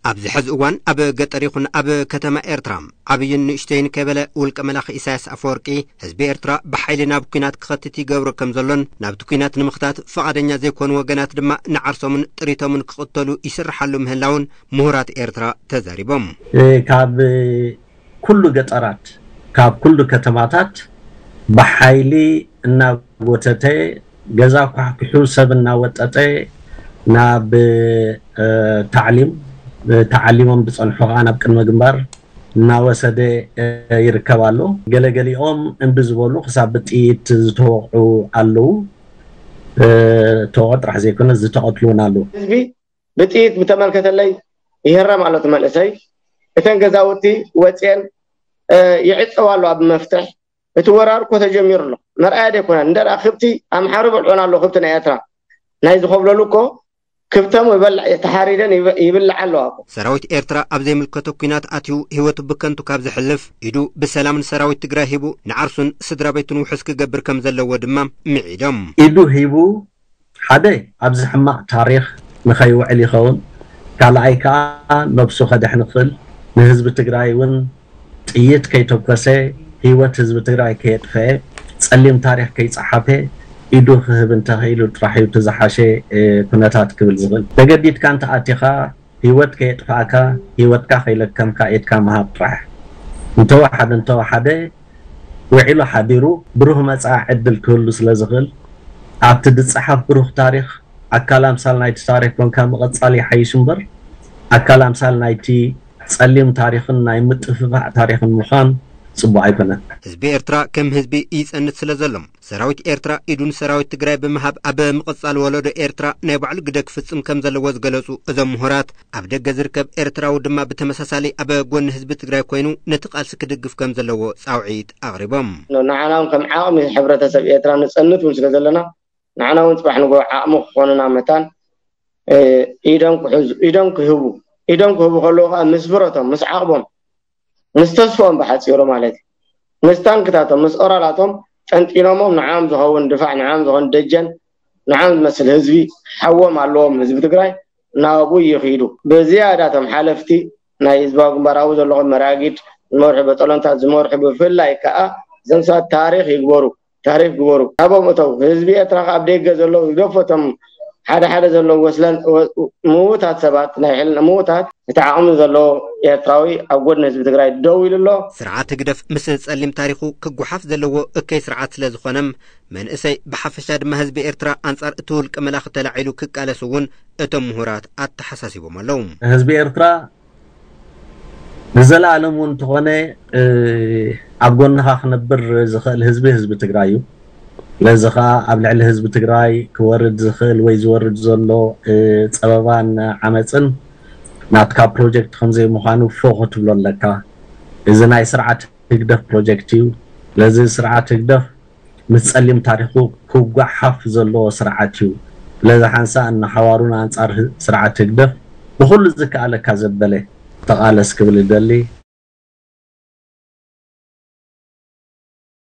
ኣብዚ ሕዚ እዋን ኣብ ገጠር ይኹን ኣብ ከተማ ኤርትራ ዓብይን ንእሽተይን ከይበለ ውልቀ መላኺ ኢሳያስ ኣፈወርቂ ህዝቢ ኤርትራ ብሓይሊ ናብ ኲናት ክኸትት ይገብሮ ከም ዘሎን ናብቲ ኲናት ንምኽታት ፍቓደኛ ዘይኮኑ ወገናት ድማ ንዓርሶምን ጥሪቶምን ክቕተሉ ይስርሓሉ ምህላውን ምሁራት ኤርትራ ተዛሪቦም። ካብ ኩሉ ገጠራት፣ ካብ ኩሉ ከተማታት ብሓይሊ እናጎተተ፣ ገዛ ኳሕኩሑ፣ ሰብ እናወጠጠ ናብ ታዕሊም፣ ተዓሊሞም ዝፀንሑ ከዓ ናብ ቅድመ ግንባር እናወሰደ ይርከብ ኣሎ። ገለገሊኦም እምቢ ዝበሉ ክሳብ ብጥይት ዝተወቕዑ ኣለዉ። ተወቕዑ ጥራሕ ዘይኮነ ዝተቐትሉ እውን ኣለዉ። ህዝቢ ብጥይት ብተመልከተለይ ይህረም ኣሎ እቲ መንእሰይ። እተን ገዛውቲ ወፅየን ይዕፀዋ ኣለዋ ብመፍትሕ። እቲ ወራር እኮ ተጀሚሩ ኣሎ። መርኣያ ደይኮነን እንደ ከብቲ ኣምሓሩ በልዖን ኣሎ። ከብቲ ናይ ኤርትራ ናይ ዝኸብለሉ እኮ ክብቶም ይበልዕ ተሓሪደን ይብልዓ ኣለዋ እኮ። ሰራዊት ኤርትራ ኣብ ዘይምልከቶ ኲናት ኣትዩ ህይወቱ ብከንቱ ካብ ዘሕልፍ ኢዱ ብሰላም ንሰራዊት ትግራይ ሂቡ ንዓርሱን ስድራ ቤቱን ውሑስ ክገብር ከም ዘለዎ ድማ ምዒዶም። ኢዱ ሂቡ ሓደ ኣብዚ ሕማቕ ታሪኽ ንኸይውዕል ይኸውን። ካልኣይ ከዓ ነብሱ ከድሕን ይኽእል። ንህዝቢ ትግራይ እውን ጥይት ከይተኮሰ ህይወት ህዝቢ ትግራይ ከየጥፈአ ጸሊም ታሪኽ ከይጸሓፈ ኢዱ ክህብ እንተኽኢሉ ጥራሕ እዩ እቲ ዝሓሸ ኩነታት ክብል ዝኽእል። ተገዲድካ እንተኣቲኻ ህይወት ከየጥፋእካ ህይወትካ ከይለከምካ ኢድካ ምሃብ ጥራሕ። እንተወሓደ እንተወሓደ ውዒሉ ሓዲሩ ብሩህ መጻኢ ዕድል ክህሉ ስለ ዝኽእል ኣብቲ ዝጸሓፍ ብሩህ ታሪኽ ኣካል ኣምሳል ናይቲ ታሪኽ ኮንካ ምቕጻል ይሓይሽ እምበር ኣካል ኣምሳል ናይቲ ጸሊም ታሪኽን ናይ ምጥፍፋእ ታሪኽን ምዃን ጽቡቕ ኣይኮነን። ህዝቢ ኤርትራ ከም ህዝቢ ይጸንት ስለ ዘሎ ሰራዊት ኤርትራ ኢዱ ንሰራዊት ትግራይ ብምሃብ ኣብ ምቕጻል ወለዶ ኤርትራ ናይ ባዕሉ ግደ ክፍጽም ከም ዘለዎ ዝገለጹ እዞም ምሁራት ኣብ ደገ ዝርከብ ኤርትራዊ ድማ ብተመሳሳሊ ኣብ ጎኒ ህዝቢ ትግራይ ኮይኑ ነቲ ቃልሲ ክድግፍ ከም ዘለዎ ጻውዒት ኣቕሪቦም። ንዓና እውን ከም ዓቕሚ ሕብረተሰብ ኤርትራ ንጸንት እውን ስለ ዘለና ንዓና እውን ጽባሕ ንግሆ ዓቕሚ ክኾኑና መታን ኢዶም ክሕዙ ኢዶም ክህቡ ኢዶም ክህቡ ከለዉ ከዓ ምስ ብረቶም ምስ ዓቕቦም ምስ ተስፎም ብሓፂሩ ማለት እዩ ምስ ታንክታቶም ምስ ኦራላቶም ጠንጢኖሞም ንዓም ዝኸውን ድፋዕ ንዓም ዝኸውን ደጀን ንዓም ዝመስል ህዝቢ ሓዎም ኣለዎም ህዝቢ ትግራይ ናብኡ ይኽይዱ። ብዝያዳ እቶም ሓለፍቲ ናይ ህዝባዊ ግንባር ኣብኡ ዘለኹም መራጊድ ዝመርሑ በጠሎንታት ዝመርሑ ብፍላይ ከዓ እዞም ሰባት ታሪኽ ይግበሩ ታሪኽ ግበሩ። ናብኦም እተው ህዝቢ ኤርትራ ካብ ደገ ዘለዉ ይገፈቶም ሓደ ሓደ ዘለዉ ወስለን ምዉታት ሰባት ናይ ሕልና ምዉታት እቲ ዓቕሚ ዘለዎ ኤርትራዊ ኣብ ጎድኒ ህዝቢ ትግራይ ደው ኢሉ ኣሎ። ስርዓት ህግደፍ ምስ ጸሊም ታሪኹ ክጓሓፍ ዘለዎ እከይ ስርዓት ስለ ዝኾነም መንእሰይ ብሓፈሻ ድማ ህዝቢ ኤርትራ ኣንጻር እቲ ውልቀ መላኺ ተላዒሉ ክቃለስ እውን እቶም ምሁራት ኣተሓሳሲቦም ኣለዉ። ህዝቢ ኤርትራ ንዘለኣለም እውን እንተኾነ ኣብ ጎንኻ ክነብር ዝኽእል ህዝቢ ህዝቢ ትግራይ እዩ። ስለዚ ከዓ ኣብ ልዕሊ ህዝቢ ትግራይ ክወርድ ዝኽእል ወይ ዝወርድ ዘሎ ፀበባን ዓመፅን ናትካ ፕሮጀክት ከምዘይምዃኑ ፎ ክትብሎ ኣለካ። እዚ ናይ ስርዓት ህግደፍ ፕሮጀክት እዩ። ስለዚ ስርዓት ህግደፍ ምስ ጸሊም ታሪኹ ክጓሓፍ ዘለዎ ስርዓት እዩ። ስለዚ ሓንሳእ ንሓዋሩን ኣንጻር ስርዓት ህግደፍ ብኹሉ ዝከኣለካ ዘበለ ተቓለስ ክብል እደሊ።